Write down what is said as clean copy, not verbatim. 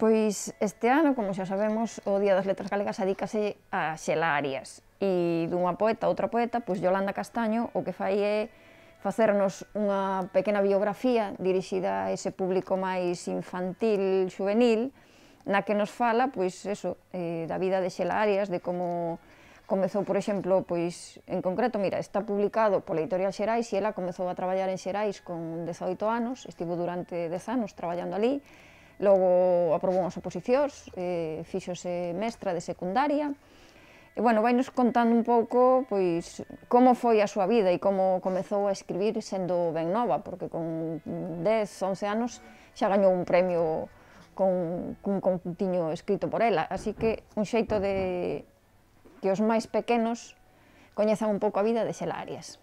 Pois este ano, como xa sabemos, o Día das Letras Galegas adícase a Xela Arias, e dunha poeta a outra poeta, pois Yolanda Castaño o que fai é facernos unha pequena biografía dirixida a ese público máis infantil, juvenil, na que nos fala, pois, eso, da vida de Xela Arias, de como comezou, por exemplo, pois, en concreto, mira, está publicado pola Editorial Xerais e ela comezou a traballar en Xerais con 18 anos, estivo durante 10 anos traballando ali, logo aprobou unhas oposicións, fíxose mestra de secundaria, e, bueno, vai nos contando un pouco, pois, como foi a súa vida e como comezou a escribir sendo ben nova, porque con 10, 11 anos xa gañou un premio cun contiño escrito por ela, así que un xeito de que os máis pequenos coñezan un pouco a vida de Xela Arias.